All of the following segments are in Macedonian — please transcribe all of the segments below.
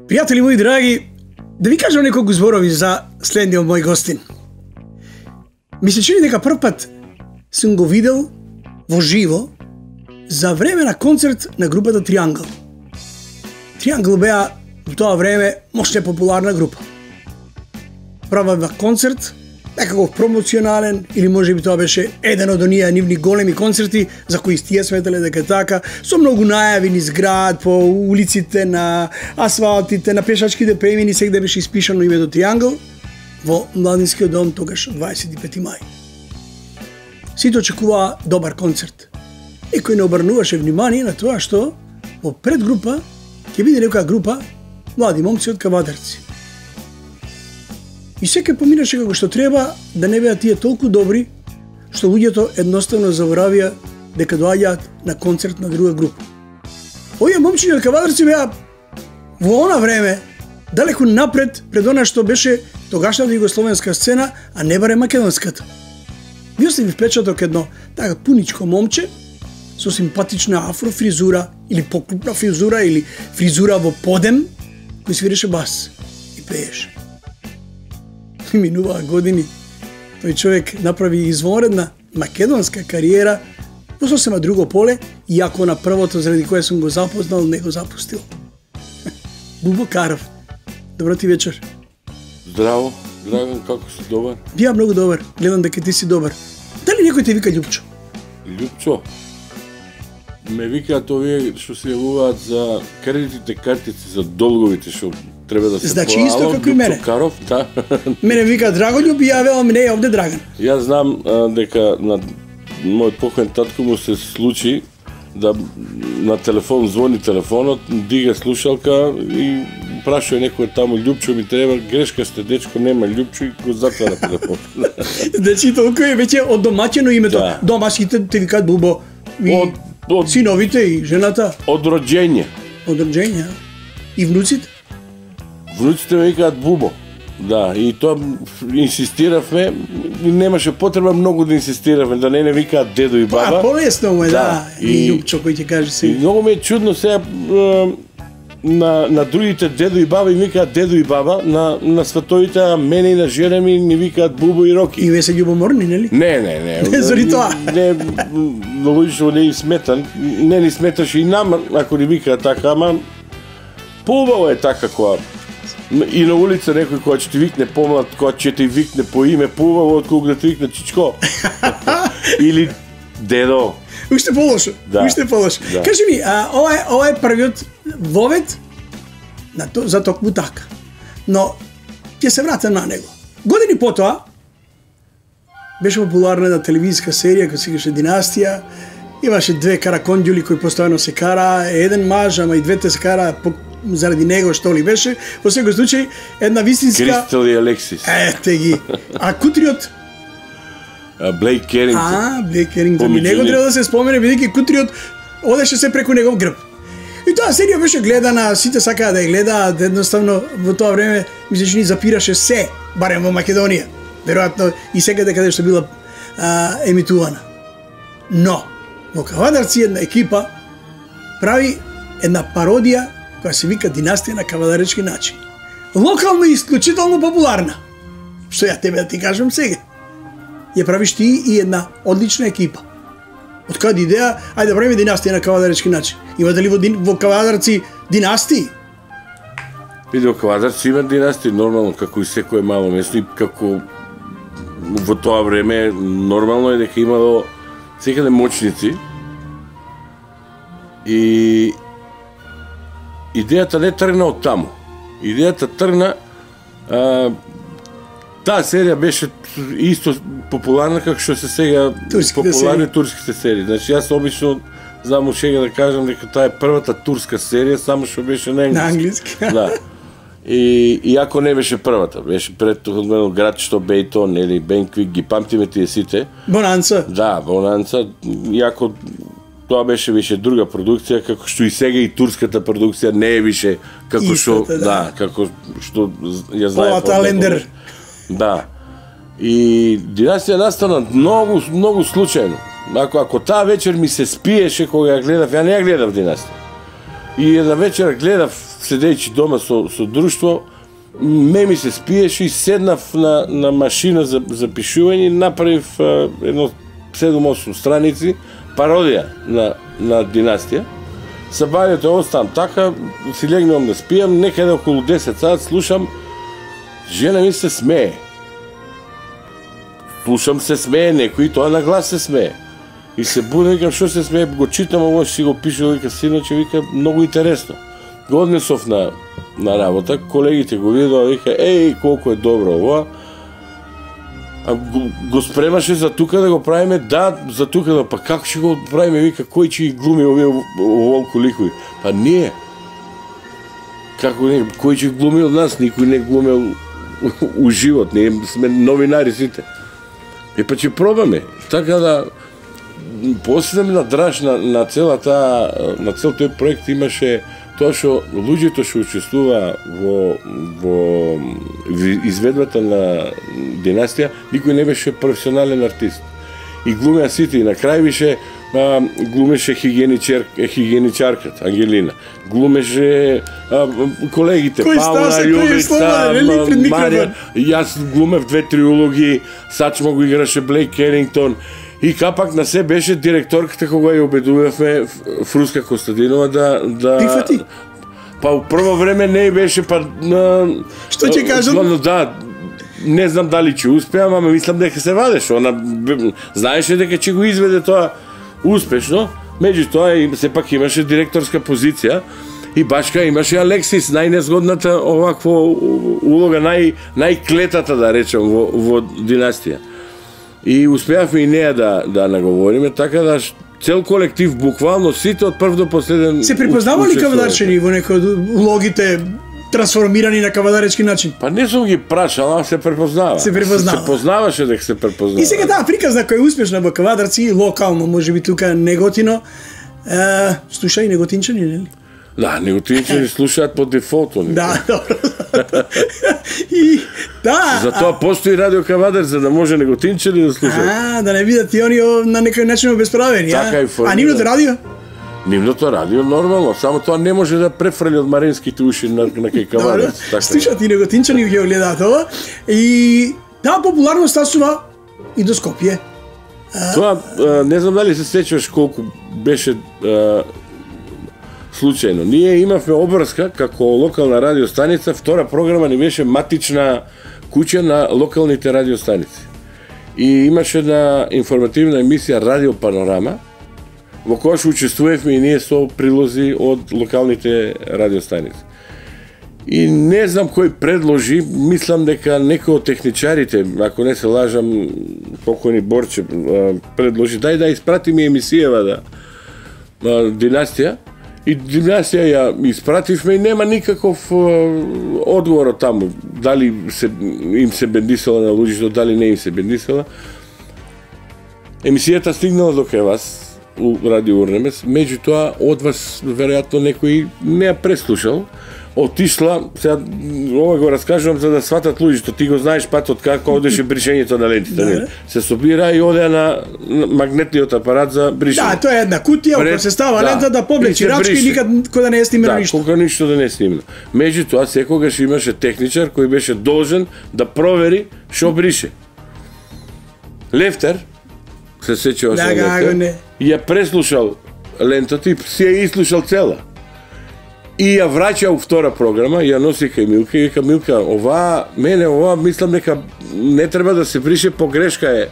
Пријатели мои драги, да ви кажам неколку зборови за следниот мој гостин. Ми се чини дека прв пат сум го видел во живо за време на концерт на групата Триангл. Триангл беа во тоа време мощна популарна група. Правеа концерт, некаков промоционален, или може би тоа беше еден од оние нивни големи концерти за кои тие сметале дека така, со многу најави низ град, по улиците, на асфалтите, на пешачките премини, сегде беше испишано името Триангл во младинскиот дом тогаш 25 мај. Сите очекуваа добар концерт. Никој не обрнуваше внимание на тоа што во предгрупа ќе биде некоја група млади момци од Кавадарци. И секој поминаше како што треба, да не беа тие толку добри, што луѓето едноставно заборавија дека доаѓаат на концерт на друга група. Овие момчиња од Кавадарци беа во она време далеку напред пред она што беше тогашната југословенска сцена, а не барем македонската. Ви остави впечаток едно така пуничко момче со симпатична афрофризура или поклупна фризура или фризура во подем, кој свиреше бас и пееше. Минуваа години, тој човек направи извонредна македонска кариера во сосема друго поле, иако на првото заради кое сум го запознал не го запустил. Бубо Каров, добро ти вечер. Здраво, Драган, како си добар? Ја многу добар, гледам дека ти си добар. Дали некој те вика Љупчо? Љупчо? Ме викаат овие што се јавуваат за кредитните картици, за долговите што треба да се значи исто како и мене. Каров, да. Мене вика Драгољуб и ја велам не, овде Драган. Јас знам дека на мојот покоен татко му се случи да на телефон звони телефонот, дига слушалка и прашува некој таму Љупчо ми треба, грешка сте дечко, нема Љупчо и го затвара телефон. Значи толку е веќе одомаќено името. Да. Дома сите те викаат Бубо. Од синовите и жената. Од роѓење. Од роѓење. И внуците? Внуците ме викаат Бубо. Да, и тоа инсистиравме, и немаше потреба многу да инсистиравме, да не викаат дедо и баба. Полесно му е, да. И Љупчо кој ќе каже се. И многу ми е чудно сега на другите дедо и баба им викаат дедо и баба, на сватовите, а мене и на жена ми ни викаат Бубо и Роки. И ве се љубоморни, нели? Не. Не заради тоа. Не, логично не им смета, не ни сметаше и нам, ако ни викаат така, ама поубаво е така која и на улица некој кој ќе ти викне помлад, кој ќе ти викне по име, поубаво отколку да ти викне Чичко. Или дедо. Уште полошо. Да. Уште полошо. Да. Кажи ми, ова е првиот вовет за токму така. Но ќе се вратам на него. Години потоа беше популарна една телевизиска серија која се викаше Династија. Имаше две караконѓули кои постојано се кара, еден маж, ама и двете се кара заради него што ли беше. Во секој случај една вистинска Кристал и Алексис. Ете ги. А кутриот Блейк Керингтон. Блейк Керингтон. И него треба да се спомене, бидејќи кутриот одеше се преку негов грб. И тоа серија беше гледана, сите сакаа да ја гледаат, едноставно во тоа време ми се чини запираше се, барем во Македонија. Веројатно и секаде каде што била емитувана. Но во Кавадарци една екипа прави една пародија која се вика Династија на кавадаречки начин. Локално и исклучително популарна. Што ја тебе да ти кажам сега. Ја правиш ти и една одлична екипа. Од каде идеја, ајде да правиме Династија на кавадаречки начин. Има дали во Кавадарци династии? Види, во Кавадарци има династии, нормално, како и секое мало место, и како во тоа време нормално е дека имало секаде моćници. И идејата не тргна од таму. Идејата тргна таа серија беше исто популарна како што се сега популарни турските серии. Значи јас обично знам шега да кажам дека таа е првата турска серија, само што беше на англиски. На англиски. Да. И иако не беше првата, беше предходно Град што Бейтон или Бенквик, ги памтиме тие сите. Бонанца. Да, Бонанца, иако тоа беше више друга продукција, како што и сега и турската продукција не е више како што, да, како што ја знае Лендер. Да. И Династија настана многу случајно. Ако таа вечер ми се спиеше кога ја гледав, ја не ја гледав Династија. И една вечер гледав седејќи дома со друштво, ми се спиеше и седнав на машина за пишување и направив едно 7-8 страници пародија на Династија. Сабајето оставам така, си легнувам да спијам, некаде околу 10 сат слушам, жена ми се смее. Слушам се смее некој, тоа на глас се смее. И се будам, викам, што се смее, го читам, ово си го пишал, вика, синаче, вика, многу интересно. Го однесов на работа, колегите го видоа, вика, колку е добро ова. А го спремаше за тука да го правиме, да, за тука да, па како ќе го правиме, вика, кој ќе ги глуми овие оволку ликови? Па ние. Како не, кој ќе глуми од нас, никој не глумел у живот, ние сме новинари сите. Па ќе пробаме. Така да, после на драж на цел тој проект имаше тоа што луѓето што учествува во изведбата на Династија, никој не беше професионален артист. И глумеа сите, и на крај више глумеше хигиеничарката Ангелина, глумеше колегите Пауна, Јовица, Марија, јас глумев 2-3 улоги, Сачмо го играше Блейк Керингтон. И капак на се беше директорката кога ја убедувавме Фруска Костадинова да прифати. Па у прво време не беше па што ќе кажам? Да, не знам дали ќе успеам, ама мислам дека се вадеше. Она знаеше дека ќе го изведе тоа успешно. Меѓутоа и сепак имаше директорска позиција и башка имаше Алексис, најнезгодната оваква улога, најклетата да речем во Династија. И успеавме и неја да наговориме, така да цел колектив, буквално сите од прв до последен... Се припознава ли кавадарчени во некои од улогите трансформирани на кавадаречки начин? Па не сум ги прашал, ама се препознава. Се препознава. Се познаваше дека се препознава. И сега таа приказна која е успешна во кавадарци, локално, можеби тука Неготино, слуша и неготинчани, нели? Да, неготинчани слушаат по дефолту. Да, добро. И да. Затоа постои радио Кавадар за да може неготинчани да слушаат. Да не видат и они на некој начин обесправени, така а нивното радио? Нивното радио нормално, само тоа не може да префрли од маринските уши на кај Кавадар. Слушаат и неготинчани ги гледаат ова и таа популарност стасува и до Скопје. Тоа не знам дали се сеќаваш колку беше случајно. Ние имавме обврска како локална радиостаница, втора програма ни беше матична куќа на локалните радиостаници. И имаше една информативна емисија Радио Панорама, во која што учествувавме и ние со прилози од локалните радиостаници. И не знам кој предложи, мислам дека некој од техничарите, ако не се лажам, покојни Борче, предложи, дај да испратиме емисијава Династија. И Династија ја испративме и нема никаков одговор од таму. Дали им се бендисала на луѓето, дали не им се бендисала. Емисијата стигнала до кај вас, у Радио Урнемес, меѓутоа од вас веројатно некој не ја преслушал, отишла, сега ова го раскажувам за да сватат луѓето, ти го знаеш патот како одеше бришењето на лентите. Се собира и оде на магнетниот апарат за бришење. Да, тоа е една кутија, ако се става лента да повлечи рачки и никад кога не е снимено ништо. Да, кога ништо да не е снимено. Меѓутоа секогаш имаше техничар кој беше должен да провери што брише. Лефтер, се сеќава се Лефтер, ја преслушал лентата и си ја ислушал цела. И ја враќа у втора програма, ја носи кај Милка и вика, Милка, ова мислам дека не треба да се брише, погрешка е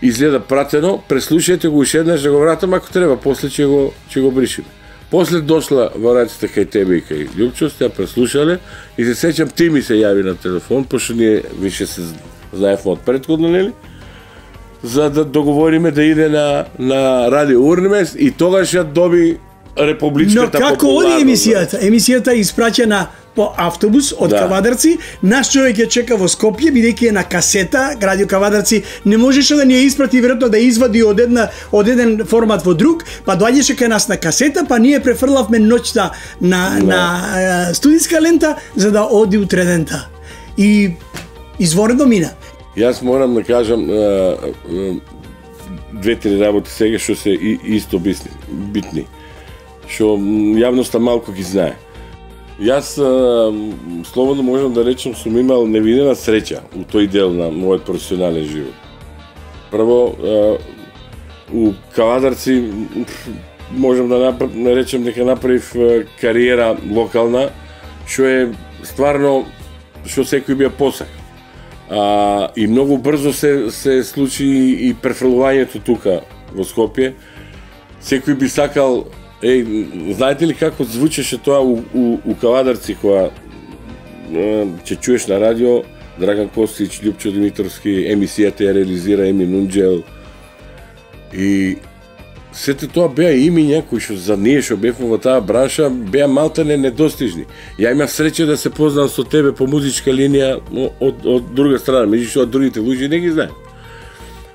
изгледа пратено, преслушајте го уште еднаш да го вратам ако треба, после ќе го бришиме. После дошла во раците кај тебе и кај Љупчо, ја преслушале и се сеќам ти ми се јави на телефон, пошто ние више се знаевме од претходно, нели? За да договориме да иде на Радио Урнемес и тогаш ја доби републичката популарност. Но како оди емисијата? Емисијата испраќа на по автобус од Кавадарци, наш човек ја чека во Скопје, бидејќи е на касета, Радио Кавадарци не можеше да ни ја испрати, веројатно да извади од еден формат во друг, па доаѓаше кај нас на касета, па ние префрлавме ноќта на студиска лента за да оди утредента. И изворедно мина. Јас морам да кажам две-три работи сега што се исто битни, што јавноста малку ги знае. Јас слободно можам да речем сум имал невидена среќа у тој дел на мојот професионален живот. Прво, у Кавадарци можам да речем дека направив кариера локална, што е стварно што секој би ја посак. И многу брзо се случи и префрлувањето тука во Скопје. Секој би сакал, знаете ли како звучеше тоа у Кавадарци кога ќе чуеш на радио Драган Костич, Љупчо Димитровски, емисијата ја реализира Еми Нунџел. И сете тоа беа имиња кои што за ние што бевме во таа бранша беа малтане недостижни. Ја имав среќа да се познам со тебе по музичка линија од друга страна, меѓутоа другите луѓе не ги знаат.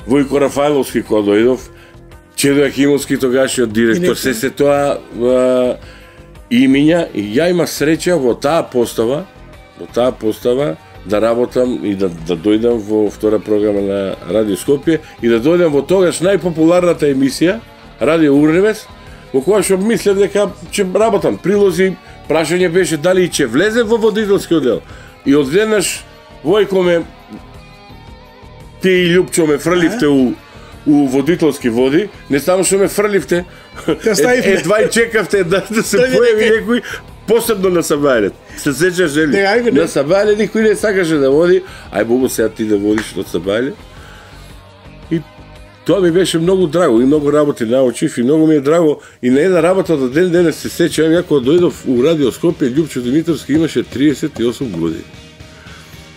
Војко Рафајловски кога дојдов, Чедо Јахимовски тогашниот директор, се тоа имиња, и ја имав среќа во таа постава да работам и да дојдам во втора програма на Радио Скопје и да дојдам во тогаш најпопуларната емисија Радио Урневес, во која што мислев дека ќе работам. Прилози, прашање беше дали ќе влезе во водителскиот дел. И одеднаш Војко ме, ти и Љупчо ме фрливте у водителски води, не само што ме фрливте, едва и чекавте да се појави некој посебно на Сабајлет. Се сеќаш ли? На Сабајлет никој не сакаше да води, ај Бого сега ти да водиш од Сабајлет. И тоа ми беше многу драго и многу работи научив и многу ми е драго и на една работа до ден денес се сеќавам, ја кога дојдов у Радио Скопје, Љупчо Димитровски имаше 38 години.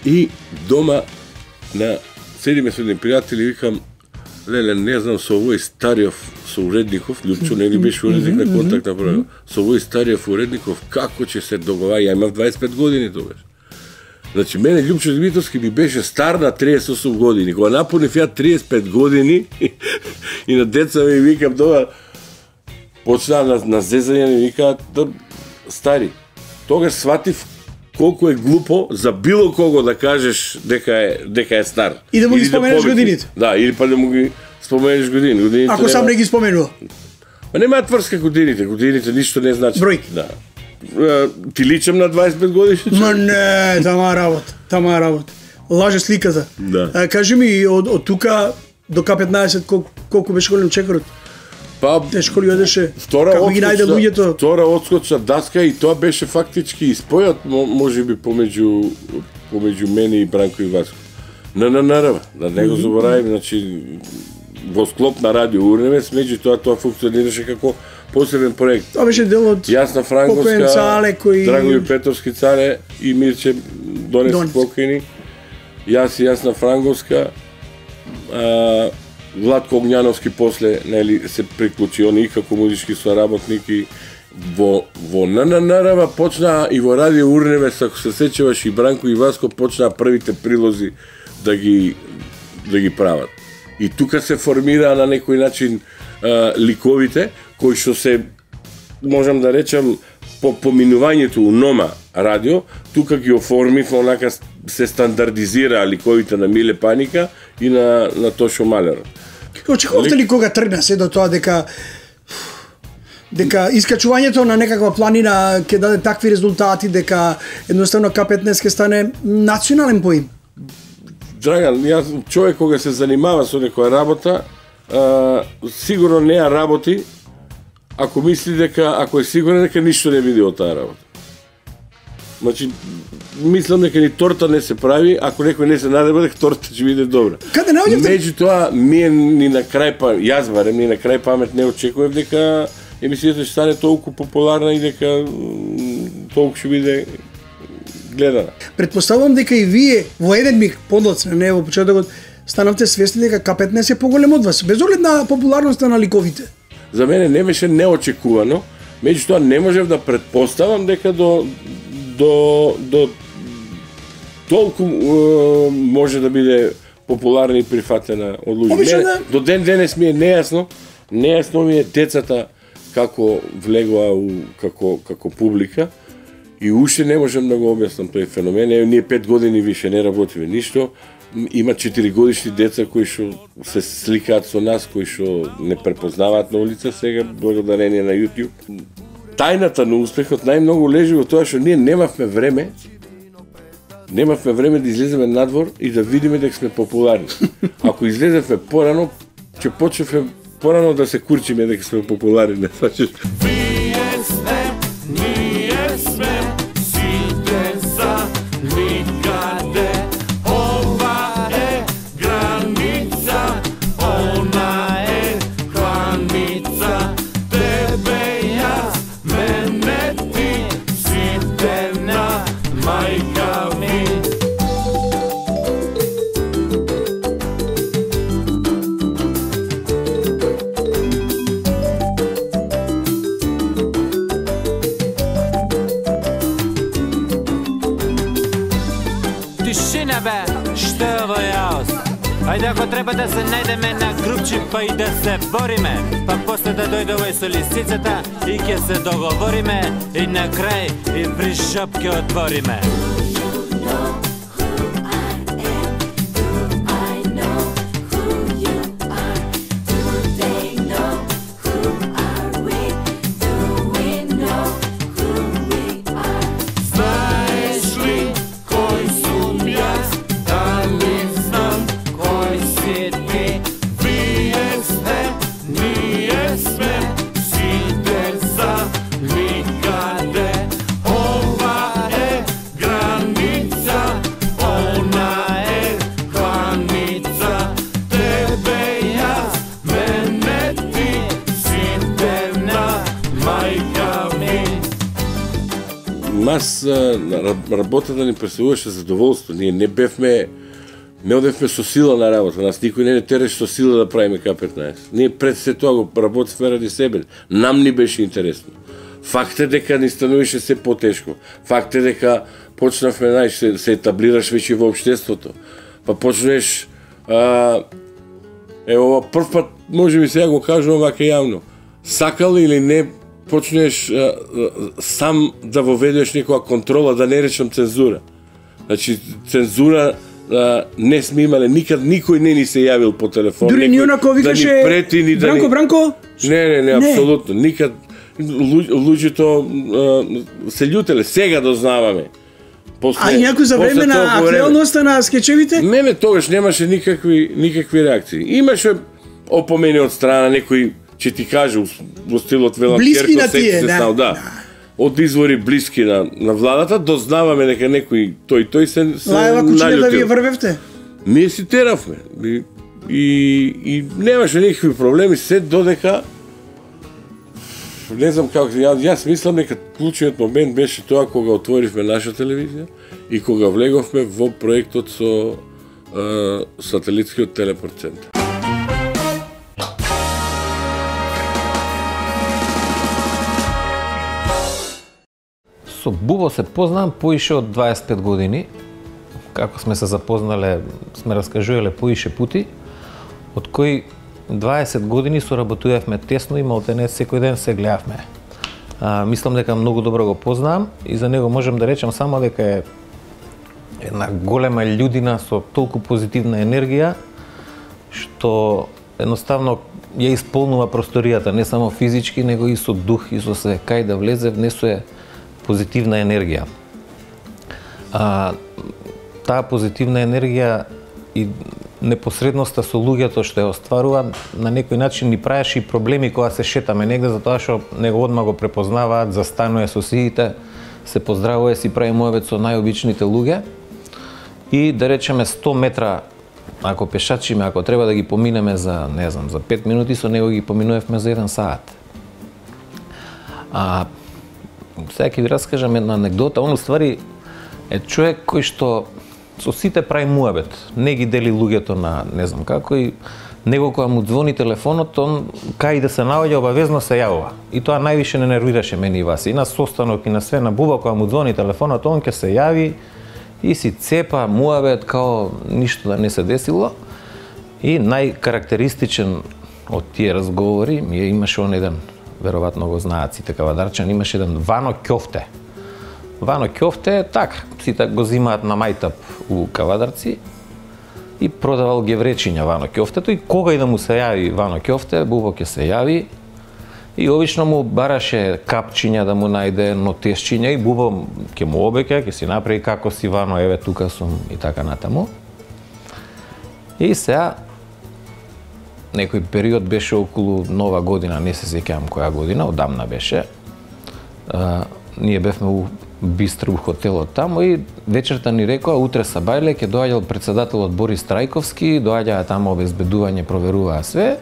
И дома седиме со едни пријатели и викам, леле, не знам, со овој Стариов, со уредников, Љупчо не ли беше уредник на контактна програма, со овој Стариов уредников, како ќе се договари, ја имав 25 години тогаш. Значи, мене Љупчо Димитровски ми беше стар на 38 години. Кога напунив ја 35 години и на деца ми викам тоа, почна на зезање ми викаат, стари, тогаш сватив колку е глупо за било кого да кажеш дека е стар. И да му ги споменеш годините. Да, или па да му ги споменеш годините. Ако сам не ги споменува. Ма немаат врска годините ништо не значи. Бројки. Да. Ти личам на 25 години? Ма не, тама работа. Лаже сликата. Да. Кажи ми, од тука до К15 колку беше голем чекорот? Па, тешко ли одеше? Како ги најде луѓето? Втора отскочна даска и тоа беше фактички испојот, можеби помеѓу мене и Бранко и Васко. ННР, да не го заборавим, значи во склоп на Радио Урневес, меѓутоа тоа функционираше како посебен проект. Тоа беше дел од Јасна Франговска, Драгоју Петровски царе и Мирче Донецки покојни. Јас и Јасна Франговска, Владко Огњановски после се приклучи он и како музички соработник и во ННР почна и во Радио Урневес, ако се сеќаваш, и Бранко и Васко почнаа првите прилози да ги прават. И тука се формира на некој начин ликовите кои што се, можам да речам, по поминувањето у Нома радио, тука ги оформив, онака се стандардизира ликовите на Миле Паника и на Тошо Малер. Очекувавте ли кога тргна се до тоа дека искачувањето на некаква планина ќе даде такви резултати, дека едноставно К15 ќе стане национален поим? Драган, јас човек кога се занимава со некоја работа, сигурно не ја работи ако мисли дека, ако е сигурен дека ништо не види од таа работа. Значи, мислам дека ни торта не се прави, ако некој не се надева дека торта ќе биде добра. Каде наоѓавте? Меѓутоа, ние ни на крај јас барем ни на крај памет не очекував дека емисијата ќе стане толку популарна и дека толку ќе биде гледана. Претпоставувам дека и вие во еден миг подлоцна, не во почетокот, станавте свесни дека К15 е поголем од вас, без оглед на популарноста на ликовите. За мене не беше неочекувано, меѓутоа не можев да претпоставам дека до толку може да биде популарна и прифатена од луѓе. До ден денес ми е нејасно ми е децата како влегоа како публика и уште не можам да го објаснам тој феномен. Ние 5 години више не работиме ништо. Има 4 годишни деца кои што се сликаат со нас, кои што не препознаваат на улица сега благодарение на YouTube. Тајната на успехот најмногу лежи во тоа што ние немавме време да излеземе надвор и да видиме дека сме популарни. Ако излезевме порано, ќе почнеме порано да се курчиме дека сме популарни, не сваќаш? Ние сме сите за никаде. Ова е граница, она е кланица. Тебе јас, мене ти, сите на мајка ми. Тишина бе, што е ово јаос? Ајде ако треба да се најдеме на групчи па и да се бориме, па после да дојде овој со лисицата и ќе се договориме и на крај и при шоп ќе отвориме. Нас работата ни представуваше задоволство. Ние не одевме со сила на работа. Нас никој не тереше со сила да правиме К15. Ние пред се тоа го работевме ради себе. Нам ни беше интересно. Факт е дека ни стануваше се потешко. Факт е дека почнавме, се етаблираш веќе во општеството. Па почнеш ова прв пат, може би сега го кажувам вака јавно. Сакал или не, почнеш сам да воведеш некоја контрола, да не речам цензура. Значи, цензура не сме имале никад, никој не ни се јавил по телефон. Дури ни онако викаше да ни прети, Бранко? Не, апсолутно. Никад луѓето се љутеле, сега дознаваме. А и някој за време на актуелноста на скечевите? Не, тогаш немаше никакви реакции. Имаше опомени од страна некој, ќе ти каже во стилот велам блиски на тие, да. Од извори блиски на владата, дознаваме дека некој тој се Лаева кучиња да вие врвевте? Ние си теравме. И немаше никакви проблеми, се додека не знам како, јас мислам дека клучниот момент беше тоа кога отворивме наша телевизија и кога влеговме во проектот со сателитскиот телепорт центар. Со Бубо се познавам поише од 25 години. Како сме се запознале, сме раскажувале поише пути, од кои 20 години соработувавме тесно и малтене секој ден се гледавме. Мислам дека многу добро го познавам и за него можем да речем само дека е една голема људина со толку позитивна енергија, што едноставно ја исполнува просторијата, не само физички, него и со дух и со све. Кај да влезе, внесува позитивна енергија. Таа позитивна енергија и непосредноста со луѓето што ја остварува, на некој начин ни правеше и проблеми кога се шетаме негде, затоа што него одма го препознаваат, застанува со сите, се поздравува, си прави муабет со најобичните луѓе. И да речеме 100 метра, ако пешачиме, ако треба да ги поминеме за, не знам, за 5 минути, со него ги поминувавме за 1 саат. Сега ќе ви раскажам една анегдота. Он уствари е човек кој што со сите прави муабет. Не ги дели луѓето на не знам како и него кога му звони телефонот, он кај да се наоѓа обавезно се јавува. И тоа највише не нервираше мене и вас. И на состанок и на све на Буба кога му звони телефонот, он ќе се јави и си цепа муавет као ништо да не се десило. И најкарактеристичен од тие разговори ми имаше он еден, веројатно го знаат сите кавадарчани, имаше еден Вано Ќофте. Вано Ќофте, така, сите го зимаат на мајтап у кавадарци и продавал гевречиња Вано Ќофтето и кога и да му се јави Вано Ќофте, Бубо ќе се јави и обично му бараше капчиња да му најде, нотесчиња и Бубо ќе му обеќе, ќе си направи како си Вано, еве тука сум и така натаму. И сега некој период беше околу Нова година, не се сеќавам која година, одамна беше. Ние бевме у Бистро у хотелот таму и вечерта ни рекоа утре са бајле ќе доаѓал председателот Борис Трајковски, доаѓаа таму обезбедување, проверуваа све.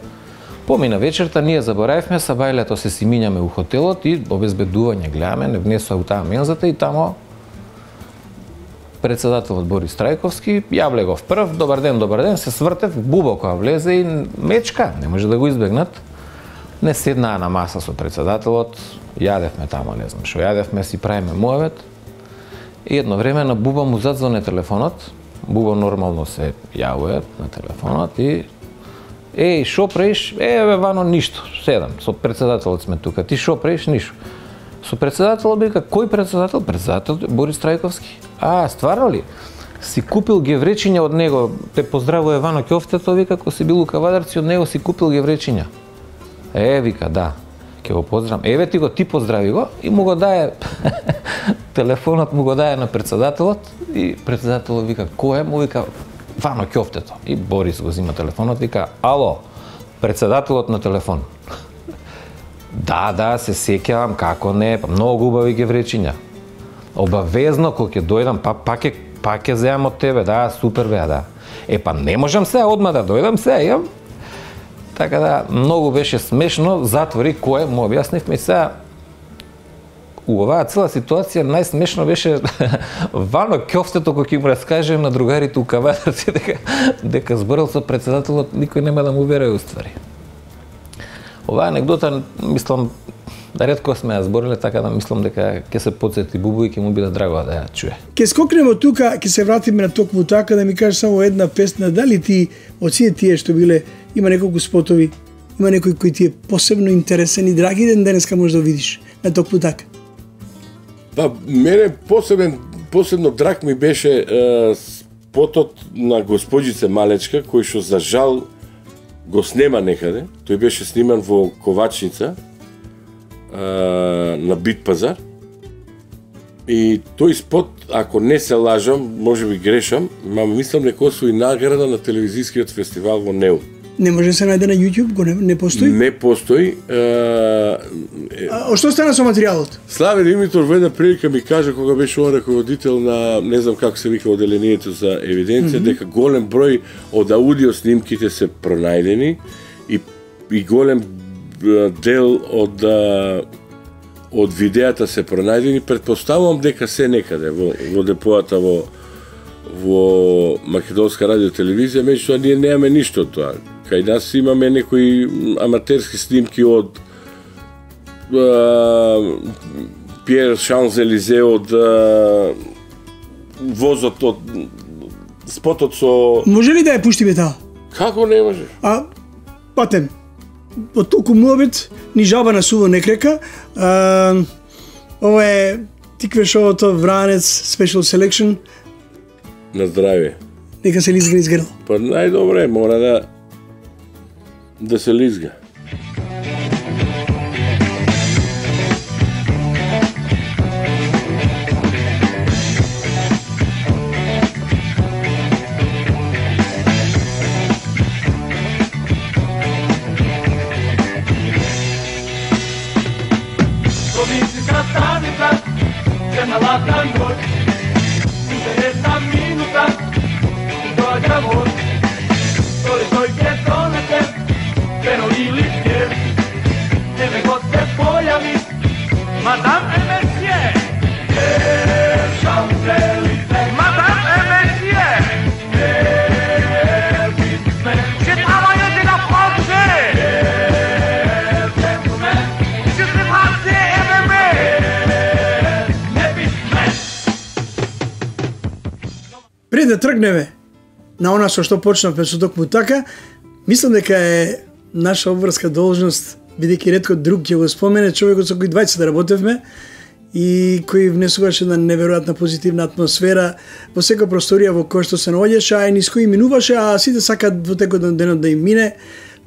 Помина вечерта, ние заборавивме са бајлето се си минјаме у хотелот и обезбедување гледаме, не внесоа у таа мензата и тамо председателот Борис Трајковски јавлегов прв, добар ден, се свртев, Бубо кога влезе и мечка, не може да го избегнат. Не седнаа на маса со председателот, јадевме тамо, не знам што јадевме, си правиме муавет. И едно време на Буба му задзвоне телефонот, Бубо нормално се јавува на телефонот и еј, шо правиш? Еве, Вано, ништо, седам, со председателот сме тука, ти шо правиш? Ништо. Со председателот вика, кој председател? Председател Борис Трајковски. А, стварно ли? Си купил гевречиња од него, те поздравува Вано Ќофтето, вика, кој си бил у кавадарци, од него си купил гевречиња. Вика, да, ќе го поздравам. Еве ти го, ти поздрави го и му го дае телефонот му го дае на председателот и председателот вика, кој е? Му вика, Вано Ќофтето. И Борис го зима телефонот, вика, ало, председателот на телефон. Да, се сеќавам, како не, многу убави гевречиња. Обавезно, кога ќе дојдам, пак ќе земам од тебе, да, супер беа, да. Па не можам сега одма да дојдам, сега имам. Така да, многу беше смешно, затвори кој, му објаснивме сега. У оваа цела ситуација најсмешно беше Вано Ќофтето кој ќе му раскажем на другарите у кавадарци дека зборил со председателот, никој нема да му верува уствари. Оваа анегдота, мислам, да ретко сме ја збориле, така да мислам дека ќе се потсети Бубу и ќе му биде драго да ја чуе. Ке скокнеме од тука, ќе се вратиме на токму така, да ми кажеш само една песна, дали ти од сите тие што биле, има неколку спотови, има некој кој ти е посебно интересен и драги ден денеска може да видиш на токму така? Па, мене посебно драг ми беше спотот на Госпоđице Малечка, кој што за жал го снема некаде. Тој беше сниман во Ковачница на Бит пазар. И тој спот, ако не се лажам, може би грешам, мислам дека освои награда на телевизискиот фестивал во Неу. Не може да се најде на YouTube, го не постои? Не постои. Што стана со материјалот? Славе Димитор во една прилика ми кажа кога беше он раководител на, не знам како се вика, оделението за евиденција, дека голем број од аудио снимките се пронајдени и голем дел од видеата се пронајдени. Предпоставувам дека се некаде во депоата во Македонска радиотелевизија, меѓутоа ние немаме ништо од тоа. Кај нас имаме некои аматерски снимки од Пиер Шанзелизе, од возот, од спотот со... Може ли да ја пуштиме таа? Како не може? Патем, од толку муабет, ни жаба на суво не крека. Ова е тикве шоуто Вранец Special Selection. На здравје. Нека се лизга изгрел. Па најдобре, мора да се лизга. Soy que tónate, pero да тргнеме на она со што почнавме со токму така, мислам дека е наша обврска должност, бидејќи ретко друг ќе го спомене човекот со кој двајца да работевме и кој внесуваше една неверојатна позитивна атмосфера во секоја просторија во која што се наоѓаше, а и низ кој минуваше, а сите сакаат во текот на денот да им мине.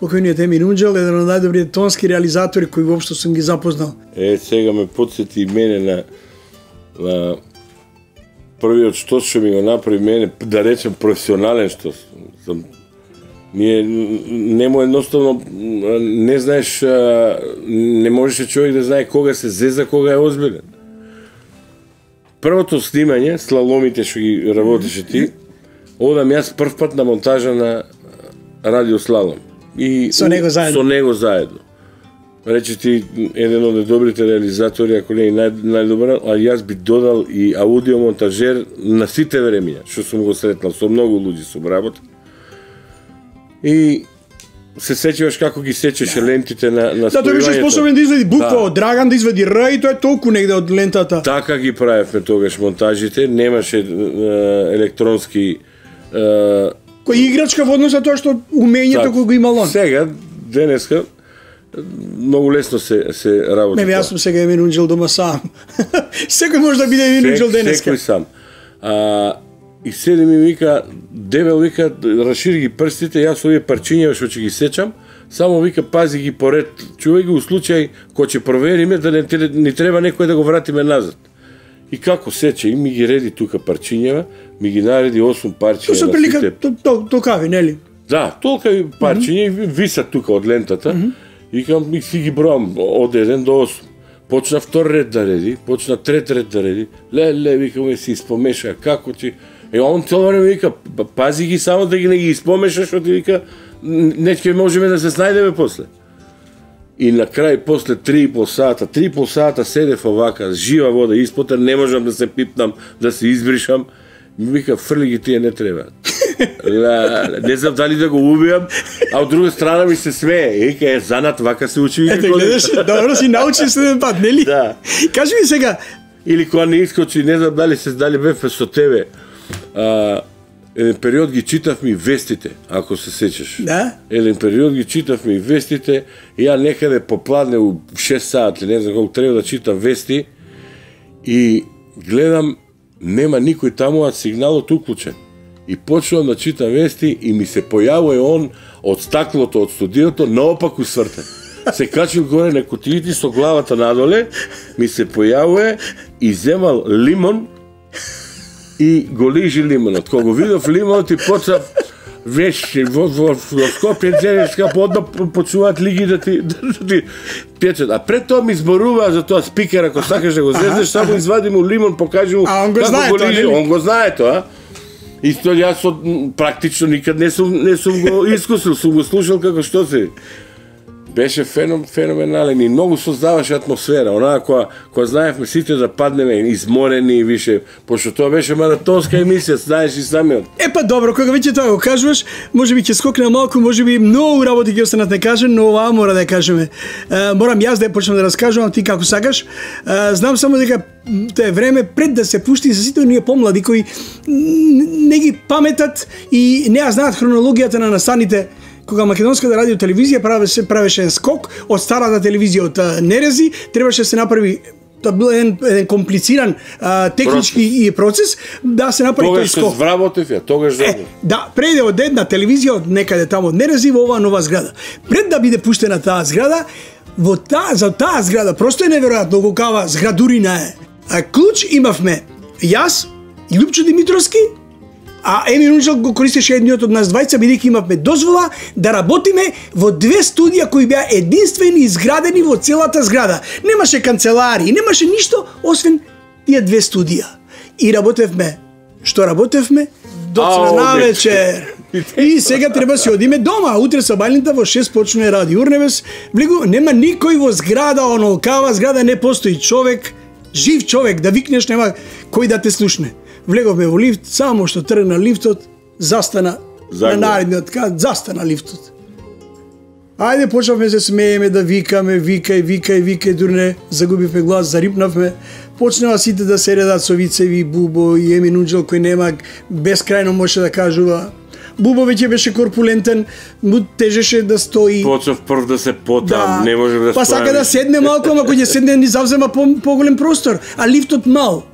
Покојниот Емин Унџел, еден од најдобрите тонски реализатори кои воопшто сум ги запознал. Сега ме потсети и мене на првиот што ми го направи мене, да речем професионален штос. Ние нему едноставно не знаеш, не можеше човек да знае кога се зеза, кога е озбилен. Првото снимање, слаломите што ги работеше ти, одам јас прв пат на монтажа на радио слалом. И со него заедно. Рече ти еден од добрите реализатори, ако не и најдобар, а јас би додал и аудиомонтажер на сите времења, што сум го сретнал, со многу луѓе сум работа. И се сеќаваш како ги сечеше лентите на спојувањето. Да, тој беше способен да извади буква од Драган, да извади Р и тоа е толку негде од лентата. Така ги правевме тогаш монтажите, немаше електронски кој играчка во однос на тоа што умењето кој го имал он. Сега, денеска, многу лесно се работи. Не, јас сум сега Емин Унџел дома сам. Секој може да биде Емин Унџел денеска. Секој сам. И седи ми вика, дебел вика, расшири ги прстите, јас овие парчиња што ќе ги сечам, само вика пази ги поред, чувај ги у случај кој ќе провериме да не треба некој да го вратиме назад. И како сече, и ми ги реди тука парчињева, ми ги нареди 8 парчиња. Тоа се прилика толкави, нели? Да, толкави парчиња висат тука од лентата. И кам си ги броам од 1 до 8. Почна втор ред да реди, почна трет ред да реди. Леле, вика ми си испомеша, како ти... он цело време вика, пази ги само да ги не ги испомешаш, што ти вика, не ќе можеме да се снајдеме после. И на крај, после 3,5 сата седев овака, жива вода испотер, не можам да се пипнам, да се избришам. Ми вика, фрли ги тие не треба. Не знам дали да го убијам, а од друга страна ми се смее. Вика, е занат, вака се учи. Ете, гледаш, добро си научи следен пат, нели? Да. Кажи ми сега. Или кога не искочи, не знам дали бевме со тебе. Еден период ги читавме и вестите, ако се сечеш. Да? Еден период ги читавме и вестите, и ја некаде попладне у 6 сати, не знам колку треба да читам вести, и гледам, нема никој таму, а сигналот уклучен. И почнувам да читам вести и ми се појавува он од стаклото од студиото наопаку свртен. Се качил горе на кутиите со главата надоле, ми се појавува и земал лимон и го лижи лимонот. Кога го видов лимонот и почна веши во Скопје денеска подно почнуваат лиги да ти печат. А пред тоа ми зборуваа за тоа спикер, ако сакаш да го зездеш, само извади му лимон, покажи му како го лижи. Он го знае тоа. И тоа јас практично никад не сум го искусил, сум го слушал како што се. Беше феноменален и многу создаваше атмосфера. Онаа која знаевме сите да паднеме изморени и више, пошто тоа беше маратонска емисија, знаеш и самиот. Па добро, кога веќе тоа го кажуваш, можеби ќе скокне малку, можеби многу работи ќе останат не кажем, но оваа мора да ја кажеме. Морам јас да ја почнам да раскажувам, ти како сакаш. Знам само дека тоа е време пред да се пушти за сите оние помлади кои не ги паметат и не ја знаат хронологијата на настаните. Кога македонската радио телевизија правеше скок од старата телевизија од Нерези, требаше да се направи, тоа бил еден комплициран технички процес да се направи тој скок. Тогаш се вработев ја, тогаш да, преде од една телевизија од некаде таму од Нерези во оваа нова зграда. Пред да биде пуштена таа зграда, за таа зграда просто е неверојатно колкава зградурина е. Клуч имавме јас и Лупчо Димитровски, а Емин Унџел го користеше едниот од нас двајца, бидејќи имавме дозвола да работиме во 2 студија кои беа единствени изградени во целата зграда. Немаше канцелари, немаше ништо освен тие 2 студија. И работевме, што работевме? До навечер. И сега треба си одиме дома, утре сабајлента во 6 почнува Радио Урневес. Влегу, нема никој во зграда, онолкава зграда, не постои човек, жив човек, да викнеш, нема кој да те слушне. Влеговме во лифт, само што тргна лифтот, застана на наредниот кат, застана лифтот. Ајде, почнавме се смееме, да викаме, викај, дури не загубивме глас, зарипнавме, почнаа сите да се редат со вицеви, Бубо и Емин Уџел кој нема бескрајно може да кажува. Бубо веќе беше корпулентен, му тежеше да стои. Почнав прв да се потам, не може да Па сака да седне малку, ама кој ќе седне ни завзема поголем простор, а лифтот мал.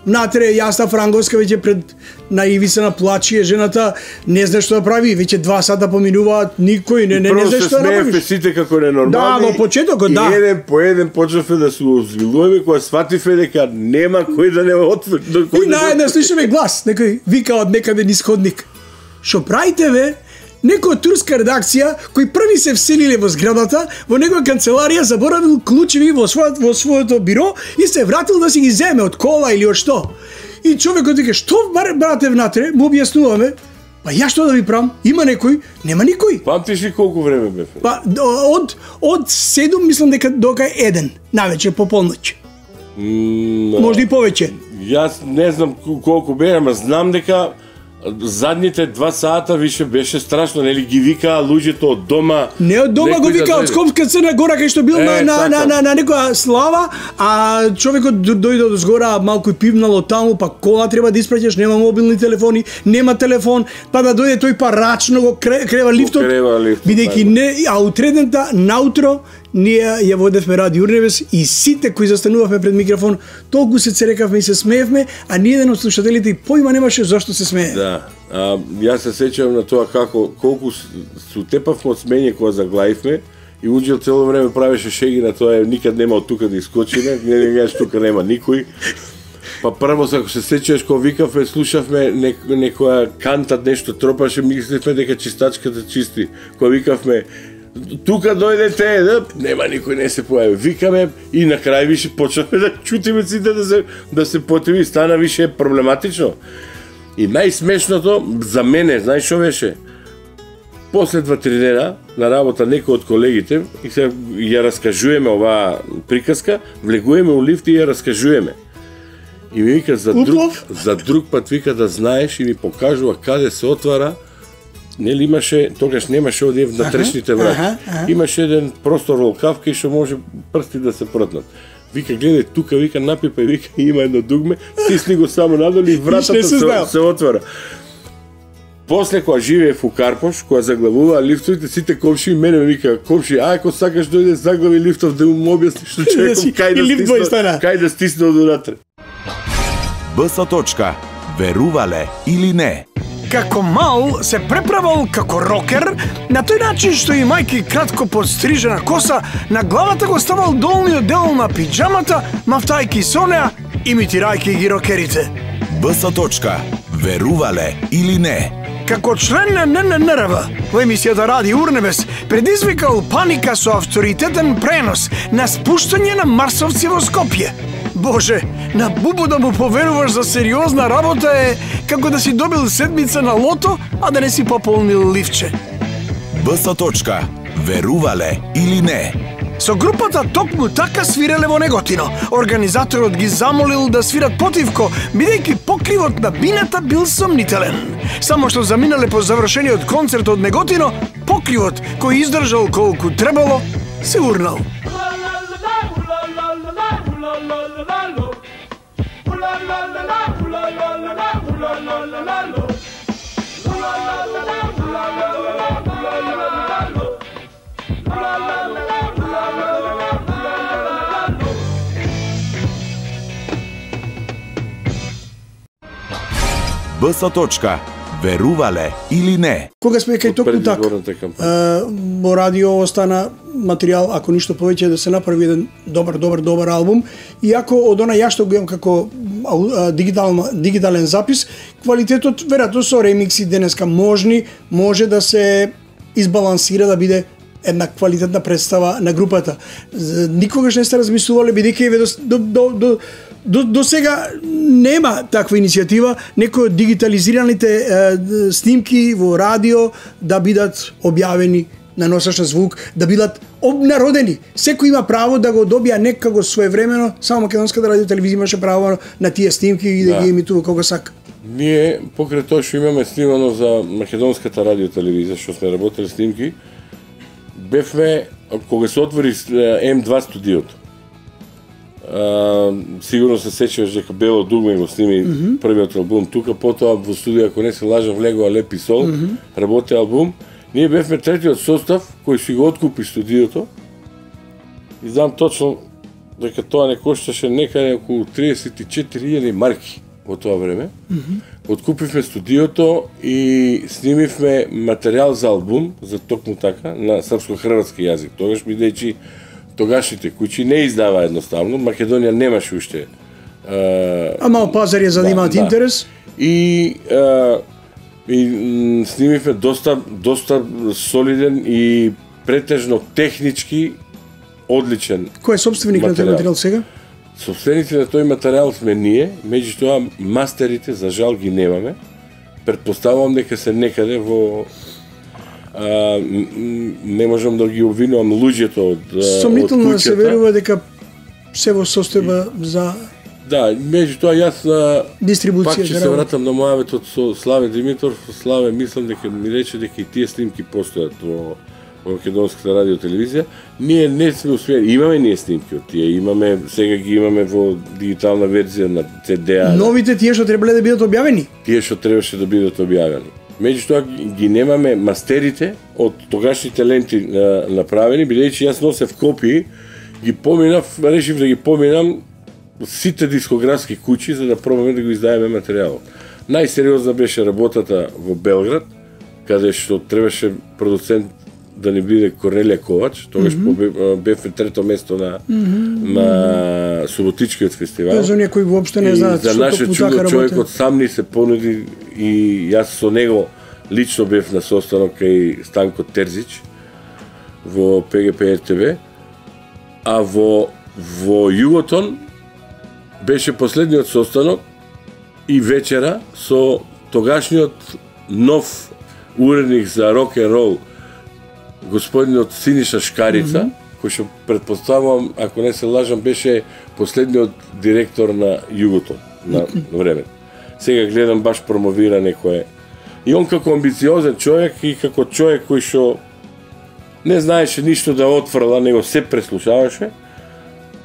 Натре Јасна Франговска веќе пред на ивица на плачи, жената не знае што да прави, веќе 2 сата поминуваат, никој не знае што да направи. Просто сите како ненормални. Да, во почетокот, да. И еден по еден почнавме да се озвилуваме кога свативме дека нема кој да не отвори. И наеднаш слушаме глас, некој вика од некаде низ ходник. Што правите ве? Некоја турска редакција кои први се вселиле во зградата, во негова канцеларија заборавил клучеви во своето биро и се вратил да си ги земе од кола или од што. И човекот вика: "Што брате внатре?" Му објаснуваме. Па ја што да ви правам? Има некој? Нема никој. Памтиш ли колку време бе? Па од 7 мислам дека дока 1 навечер по полноќ. Може и повеќе. Јас не знам колку бе, ама знам дека задните 2 сата више беше страшно, нели ги викаа луѓето од дома. Не од дома го вика, од Скопска Црна Гора кај што бил на некоја слава, а човекот дојде од згора, малку пивнало таму, па кола треба да испраќаш, нема мобилни телефони, нема телефон, па да дојде тој парачно го крева лифтот, бидејќи не, а утредента наутро ние ја водевме Радио Урнебес и сите кои застанувавме пред микрофон толку се церекавме и се смеевме, а ни еден од слушателите и поима немаше зошто се смее. Да. Јас се сеќавам на тоа колку се утепавме од смење кога заглавивме и Уџел цело време правеше шеги на тоа, никад нема од тука да искочиме, не гледаш тука нема никој. Па прво, ако се сеќаваш, кога викавме, слушавме некоја кантат нешто тропаше, мислевме дека чистачката чисти. Кога викавме тука дојдете, нема никој, не се појави. Викаме и на крај више почнавме да чутиме сите да се потиви, стана више проблематично. И најсмешното за мене, знаеш што беше? После 2-3 дена на работа некој од колегите и се ја раскажуваме оваа приказка, влегуваме у лифт и ја раскажуваме. И ми вика за друг пат вика да знаеш и ми покажува каде се отвара. Нели имаше, тогаш немаше одје внатрешните врати. Имаше еден простор во кавка и што може прсти да се протнат. Вика, гледај тука, вика, напипај, вика, има едно дугме, стисни го само надолу и вратата се отвора. После кога живеев у Карпош, кога заглавуваа лифтовите, сите комши и мене вика, комши, ако сакаш дојде заглави лифтов да му објасни што човеком кај да стисне од унатре. БС. Верувале или не? Како мал се преправал како рокер, на тој начин што и мајки кратко подстрижена коса, на главата го ставал долниот дел на пиџамата, мафтајки со неа, имитирајќи ги рокерите. БС. Верувале или не? Како член на НННРВ во емисијата Радио Урнебес предизвикал паника со авторитетен пренос на спуштање на марсовци во Скопје. Боже, на Бубо да му поверуваш за сериозна работа е како да си добил седмица на лото, а да не си пополнил ливче. БС. Верувале или не? Со групата токму така свиреле во Неготино. Организаторот ги замолил да свират потивко, бидејќи покривот на бината бил сомнителен. Само што заминале по завршениот концерт од Неготино, покривот кој издржал колку требало, се урнал. БС. Верувале или не? Кога сме кај токму така, во радио остана материјал, ако ништо повеќе, да се направи еден добар албум, иако од она ја што го имам како дигитален запис, квалитетот веројатно со ремикси денеска може да се избалансира, да биде една квалитетна представа на групата. Никогаш не сте размислувале, бидејќи до сега нема таква иницијатива, некои од дигитализираните снимки во радио да бидат објавени на носач на звук, да бидат обнародени. Секој има право да го добија некако своевремено, само македонската радио телевизија имаше право на тие снимки и да ги емитува кога сака. Ние, покрај тоа што имаме снимано за македонската радио телевизија, што сме работели снимки, бевме, кога се отвори М2 студиото, Сигурно се сеќаваш дека Бело дугме го сними првиот албум тука, потоа во студио, ако не се лажам, влегува Лепи Сол, работи албум. Ние бевме третиот состав кој си го откупи студиото. И знам точно дека тоа не кошташе некаде околу 34.000 марки во тоа време. Откупивме студиото и снимивме материјал за албум, за токму така, на српско-хрватски јазик. Тогаш бидејќи тогашните куќи не издава едноставно, Македонија немаше уште. А мал пазар ја занимаат интерес? И снимивме доста солиден и претежно технички одличен. Кој е собственик на тој материјал сега? Собственици на тој материјал сме ние, меѓутоа мастерите за жал ги немаме. Претпоставувам дека се некаде во не можам да ги обвинувам луѓето од куќата. Сомнително да се верува дека се во состојба за меѓутоа јас дистрибуција. Пак ќе се вратам на мојавето со Славе Димитров. Славе, мислам дека ми рече дека и тие снимки постојат во Македонската радио телевизија. Ние не сме успели, имаме ние снимки од тие, имаме, сега ги имаме во дигитална верзија на CD-а. Новите тие што требале да бидат објавени? Тие што требаше да бидат објавени. Меѓутоа ги немаме мастерите од тогашните ленти направени, бидејќи јас носев копии, ги поминав, решив да ги поминам сите дискографски куќи за да пробаме да го издаеме материјалот. Најсериозна беше работата во Белград, каде што требаше продуцент да не биде Корнелија Ковач, тогаш бевме трето место на Суботичкиот фестивал. За оние кои воопшто не знаат што нашиот човекот сам ни се понуди и јас со него лично бев на состанок кај Станко Терзич во ПГП РТВ, а во Југотон беше последниот состанок и вечера со тогашниот нов уредник за рок н рол, господинот Синиша Шкарица, кој што претпоставувам, ако не се лажам, беше последниот директор на Југотон на време. Сега гледам баш промовира некој. И он како амбициозен човек и како човек кој што не знаеше ништо да отфрла, него се преслушаваше,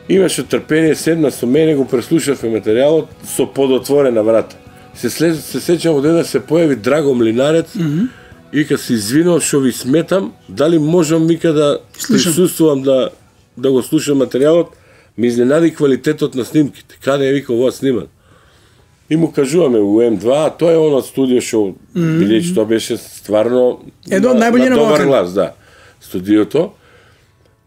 имаше трпение, седна со мене, го преслушавме материјалот со подотворена врата. Се сеќам од една се појави Драго Млинарец и вика се извинувам што ви сметам, дали можам вика да присуствувам да го слушам материјалот, ми изненади квалитетот на снимките. Каде е вика ова сниман? И му кажуваме у М2, тоа е оно студио што бидејќи тоа беше стварно на добар глас, да. Студиото.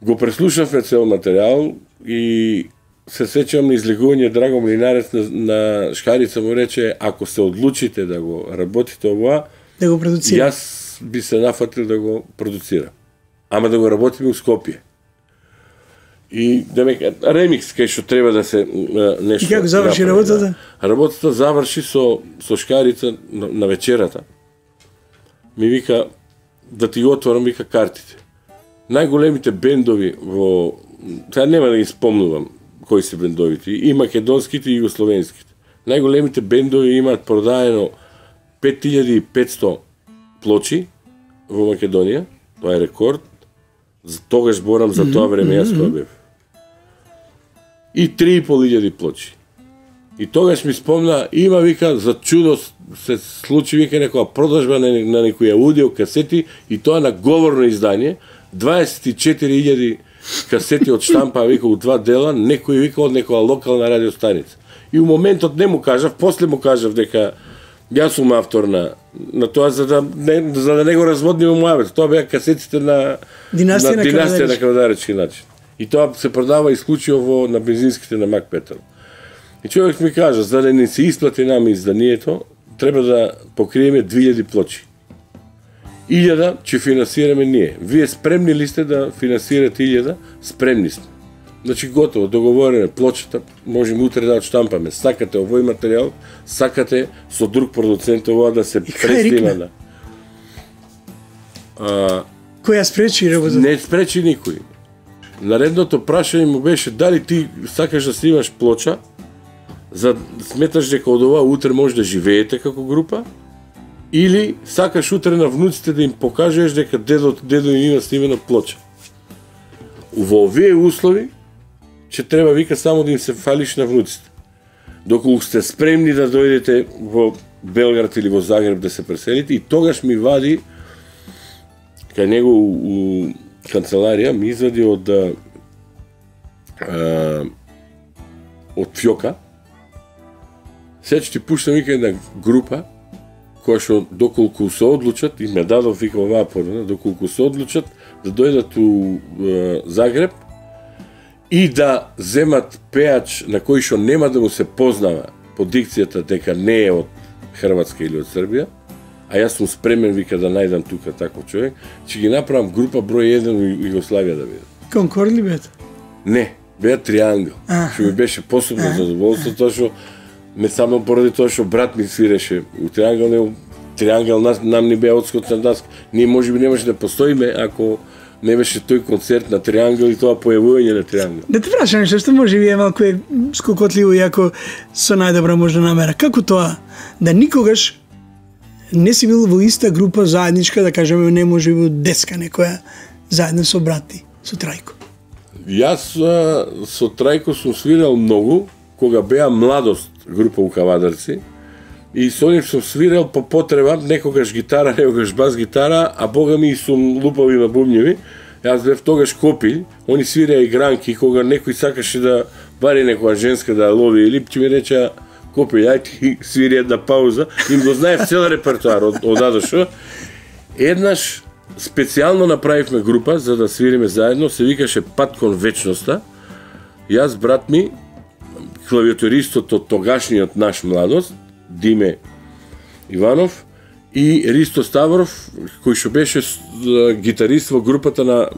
Го преслушавме цел материјал и се сеќавам на излегување Драго Млинарец на Шкарица му рече, ако се одлучите да го работите ова, да го продуцира. Јас би се нафатил да го продуцира. Ама да го работиме у Скопје. И ремикс кај што треба да се нешто. И како заврши работата? Да. Работата заврши со Шкарица на вечерата. Ми вика да ти го отворам вика картите. Најголемите бендови во сега нема да ги спомнувам кои се бендовите, и македонските и југословенските. Најголемите бендови имаат продаено 5500 плочи во Македонија, тоа е рекорд. За тогаш зборам за тоа време јас тоа бев. И 3500 плочи. И тогаш ми спомна, има вика за чудо се случи вика некоја продажба на некои аудио касети и тоа на говорно издание, 24.000 касети од штампа вика у 2 дела, некој вика од некоја локална радиостаница. И у моментот не му кажав, после му кажав дека јас сум автор на тоа за да не го разводниме мојавето. Тоа беа касетите на Династија на Кавадаречки начин. И тоа се продава исклучиво на бензинските на Мак Петар. И човек ми кажа, за да не се исплати нами изданието, треба да покриеме 2000 плочи. 1000 ќе финансираме ние. Вие спремни ли сте да финансирате 1000? Спремни сме. Значи готово, договорено плочата, можеме утре да отштампаме. Сакате овој материјал, сакате со друг продуцент ова да се преснима на. Која спречи работата? Не спречи никој. Наредното прашање му беше дали ти сакаш да снимаш плоча, за сметаш дека од ова утре може да живеете како група, или сакаш утре на внуците да им покажеш дека дедо им има снимена плоча. Во овие услови че треба вика само да им се фалиш на внуците. Доколку сте спремни да дојдете во Белград или во Загреб да се преселите, и тогаш ми вади кај него у канцеларија, ми извади од фјока. Сега ти пуштам вика една група која што доколку се одлучат, и ме дадов вика оваа поруда, доколку се одлучат да дојдат у Загреб и да земат пеач на кој што нема да му се познава по дикцијата дека не е од Хрватска или од Србија, а јас сум спремен вика да најдам тука таков човек, ќе ги направам група број 1 у Југославија да бидат. Конкорд ли беа? Не, беа Триангл. Што ми беше посебно задоволство, тоа што не само поради тоа што брат ми свиреше у Триангл, нам не беа одскоцна даска. Ние можеби немаше да постоиме ако не беше тој концерт на Триангл и тоа појавување на Триангл. Да те прашам нешто, што може би е малку скокотливо и ако со најдобра можна намера. Како тоа да никогаш не си бил во иста група заедничка, да кажеме, не може би деска некоја, заедно со брати, со Трајко? Јас со Трајко сум свирал многу, кога беа Младост група у Кавадарци, и со нив сум свирал по потреба, некогаш гитара, некогаш бас гитара, а бога ми сум лупал и на бубњеви. Јас бев тогаш копил, они свираа игранки, кога некој сакаше да бари некоја женска да лови или ќе ми рече копил, ај ти свири една пауза, им го знаев цел репертуар од Адошо. Еднаш специјално направивме група за да свириме заедно, се викаше Пат кон вечноста. Јас, брат ми, клавиатуристот од тогашниот наш Младост, Диме Иванов, и Ристо Ставров, кој што беше гитарист во групата на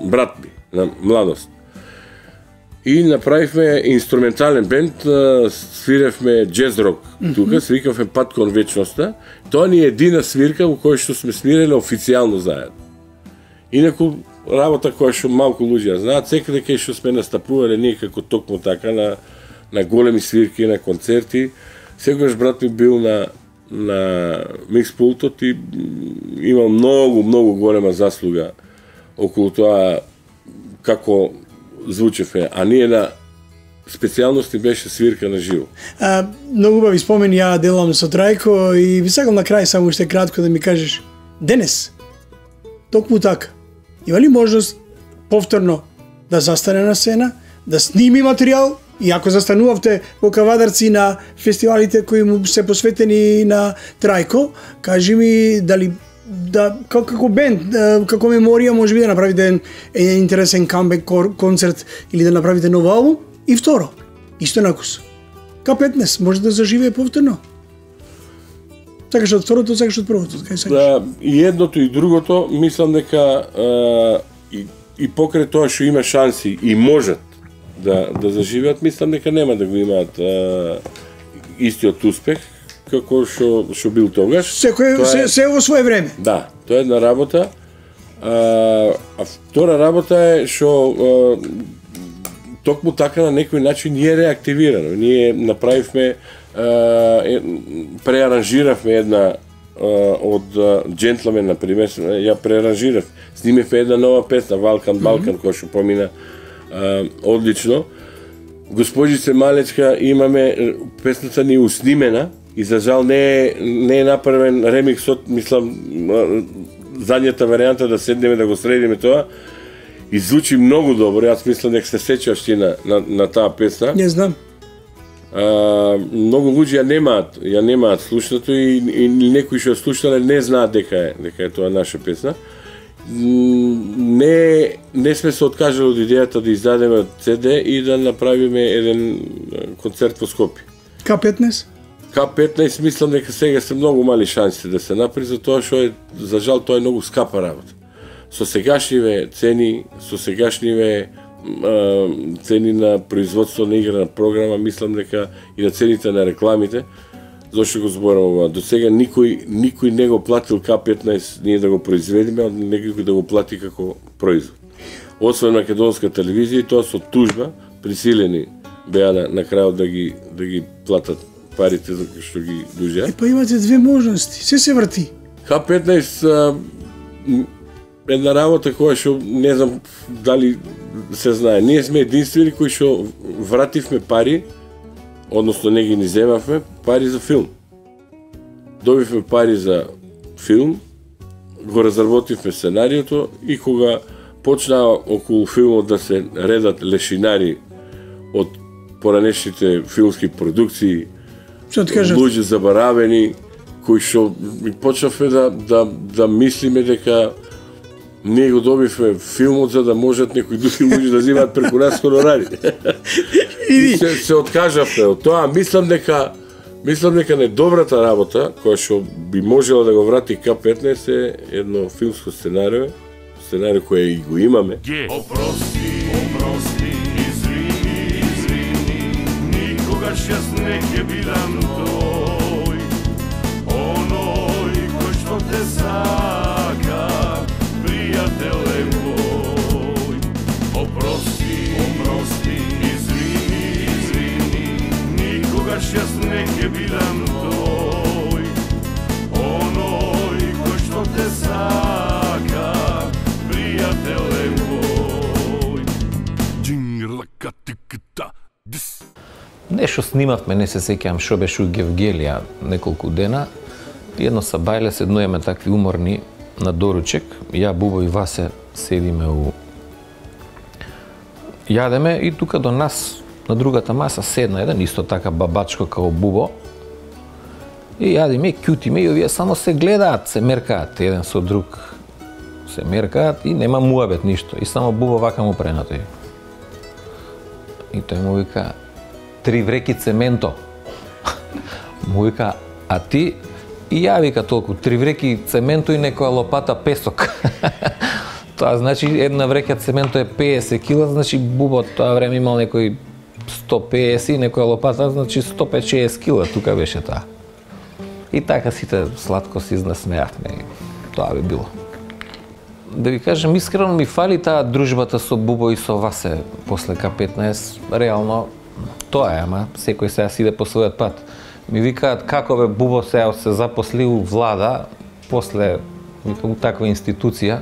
брат ми, на Младост. И направивме инструментален бенд, свиревме джез-рок тука, се викавме Пат кон вечноста. Тоа ни е едина свирка во која што сме свиреле официјално заедно. Инаку, работа која што малку луѓе знаат, секаде кај што сме настапувале ние како токму така на големи свирки, на концерти, секогаш брат ми бил на микспултот и имал многу голема заслуга околу тоа како звучевме, а ние на специјалности беше свирка на живо. Многу убави спомени ја делам со Трајко и би сакал на крај само уште кратко да ми кажеш, денес, токму така, има ли можност повторно да застане на сцена, да сними материјал, и ако застанувавте во Кавадарци на фестивалите кои му се посветени на Трајко, кажи ми дали како бенд, како меморија може би да направите еден интересен камбек концерт или да направите нов албум. И второ, исто накус, К15 може да заживее повторно. Сакаш од второто, сакаш од првото, кај сакаш? Да, и едното и другото, мислам дека и покрај тоа што има шанси и можат да заживеат, мислам дека нема да го имаат истиот успех како што бил тогаш. Се во свое време. Да, тоа е една работа. А втора работа е што токму така на некој начин ние реактивирано. Ние направивме, преаранжиравме една од Джентлмен, например, ја преаранжирав. Снимевме една нова песна, Балкан, која што помина одлично. Госпожице Малечка, имаме песната ни уснимена и за жал не е направен ремиксот, мислам, задњата варијанта да седнеме да го средиме тоа. И звучи многу добро, јас мислам дека се сеќаваш ти на таа песна. Не знам. Многу луѓе ја немаат слушнато и некои што слушнале не знаат дека е тоа наша песна. Не сме се откажали од идејата да издадеме CD и да направиме еден концерт во Скопје. К15? К15 мислам дека сега се многу мали шанси да се направи, затоа што за жал тоа е многу скапа работа. Со сегашниве цени, со сегашниве цени на производство на игра на програма, мислам дека и на цените на рекламите, зашто го зборам ова, до сега никој не го платил К15 ние да го произведеме, а некој да го плати како производ. Освен македонска телевизија, и тоа со тужба, присилени беа на крајот да ги платат парите за што ги дужеа. Па имате две можности, се врти. К15 една работа која што не знам дали се знае. Ние сме единствени кои што вративме пари, односно не ги ни земавме, пари за филм. Добивме пари за филм, го разработивме сценариото и кога почнаа околу филмот да се редат лешинари од поранешните филмски продукции, луѓе забаравени, кои што почнавме да мислиме дека ние го добивме филмот за да можат некои други луѓе да земаат преку нас хонорари. И се откажавме од тоа. Мислам дека недобрата работа, која што би можела да го врати К15 е едно филмско сценарио кое и го имаме. Опрости, извини, никогаш јас не ќе бидам тој, оној кој што те сака, пријателе мој. Опрости, извини, никогаш јас не ќе бидам тој, оној кој што те сака, пријателе мој. Нешто снимавме, не се сеќавам што беше у Гевгелија неколку дена. Едно сабајле седнуеме такви уморни на доручек. Ја, Бубо и Васе седиме јадеме и тука до нас на другата маса седна еден исто така бабачко као Бубо. И јадиме, кјутиме и овие само се гледаат, се меркаат еден со друг. Се меркаат и нема муабет ништо. И само Бубо вака му прена тој. И тој му вика 3 вреки цементо. Му вика, а ти? И ја вика толку, 3 вреки цементо и некоја лопата песок. Тоа значи една врека цементо е 50 кила, значи Бубо тоа време имал некој 150 и некоја лопата, значи 150 кила, тука беше таа. И така сите сладко се изнасмеавме. Тоа би било. Да ви кажем, искрено ми фали таа дружбата со Бубо и со Васе после К15. Реално, тоа е, ама секој сега си иде по својот пат. Ми викаат како бе Бубо сега се запосли у влада, после у таква институција.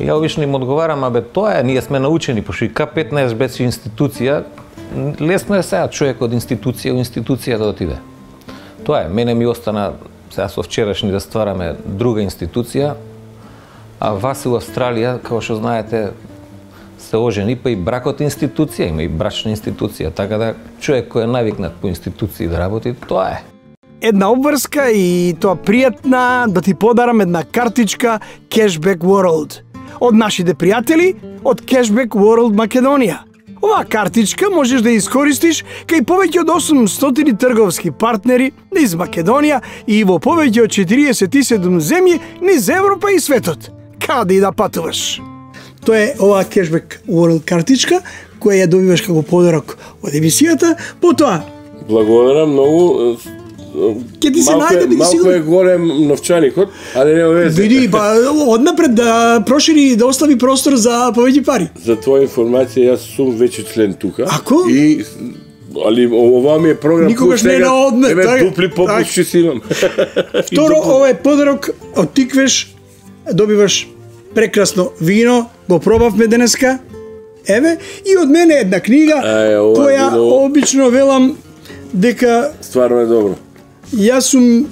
И ја обично им одговарам, абе тоа е, ние сме научени, пошто и К15 беше институција, лесно е сега човек од институција у институција да отиде. Тоа е, мене ми остана сега со вчерашни да ствараме друга институција, а Васе у Австралија, како што знаете, се ожени, па и бракот е институција, има и брачна институција, така да човек кој е навикнат по институции да работи, тоа е. Една обврска и тоа пријатна да ти подарам една картичка Cashback World од нашите пријатели од Cashback World Македонија. Оваа картичка можеш да ја искористиш кај повеќе од 800 трговски партнери низ Македонија и во повеќе од 47 земји низ Европа и светот. Каде и да патуваш. Тоа е оваа Cashback World картичка која ја добиваш како подарок од емисијата. Потоа благодарам многу. Ќе ти се најде, биди малку сигурен. е голем новчаникот, али нема везе. Види, па однапред да прошири, да остави простор за повеќе пари. За твоја информација, јас сум веќе член тука. Ако? И али ова ми е програм Никогаш не на одмет, Еве така? дупли попушчи си имам. Второ, ова е подарок од Тиквеш, добиваш прекрасно вино, го пробавме денеска. Еве, и од мене една книга ова која вино обично велам дека стварно е добро. јас сум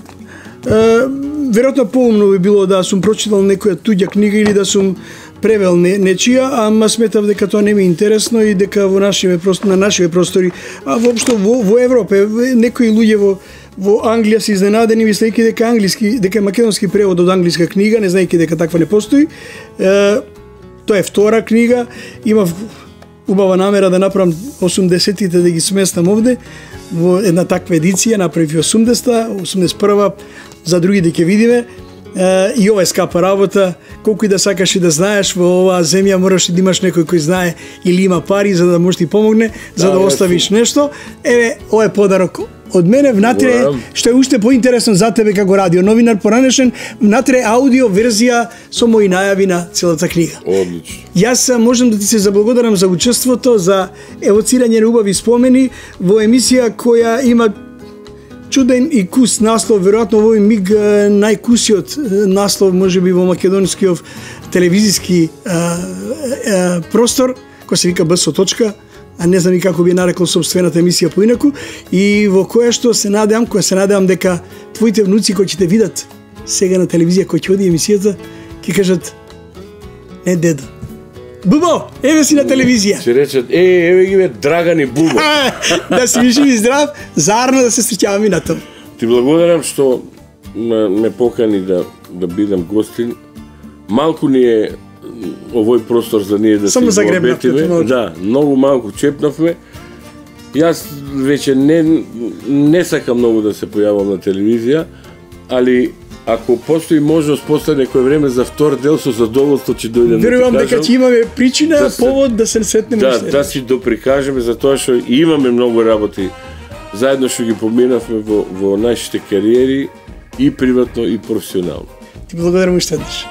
веројатно поумно би било да сум прочитал некоја туѓа книга или да сум превел нечија, ама сметав дека тоа не ми е интересно и дека во на нашиве простори, а воопшто во Европа, некои луѓе во Англија се изненадени мислејќи дека македонски превод од англиска книга, не знаејќи дека таква не постои. Тоа е втора книга, имав убава намера да направам 80-тите да ги сместам овде во една таква едиција, направив 80-та, 81-та, за другите ќе видиме. И ова е скапа работа, колку и да сакаш и да знаеш, во оваа земја мораш и да имаш некој кој знае или има пари за да може ти помогне, за да оставиш нешто. Еве, ова е подарок од мене, внатре, што е уште поинтересно за тебе како радио новинар поранешен, внатре аудио верзија со мои најави на целата книга. Одлично. Јас можам да ти се заблагодарам за учеството, за евоцирање на убави спомени во емисија која има чуден и кус наслов, веројатно во овој миг најкусиот наслов можеби во македонскиот телевизиски простор, кој се вика БСО точка, а не знам и како би нарекол собствената емисија поинаку, и во која се надевам дека твоите внуци кои ќе те видат сега на телевизија, кој ќе оди емисијата, ќе кажат: не дедо, Бубо, еве си на телевизија. Ќе речат: еве ги бе Драган и Бубо. Да си виши и здрав, заедно да се среќаваме и на тоа. Ти благодарам што ме покани да бидам гостин. Малку ни е овој простор за ние да само се обетиме. Да, многу малку чепнавме. Јас веќе не сакам многу да се појавам на телевизија, али ако постои можност после некој време за втор дел, со задоволство ќе дојдем. Верувам дека ќе имаме причина, повод да се сретнеме. Да си доприкажеме за тоа што имаме многу работи. Заедно што ги поминавме во нашите кариери и приватно и професионално. Ти благодарам уште еднаш.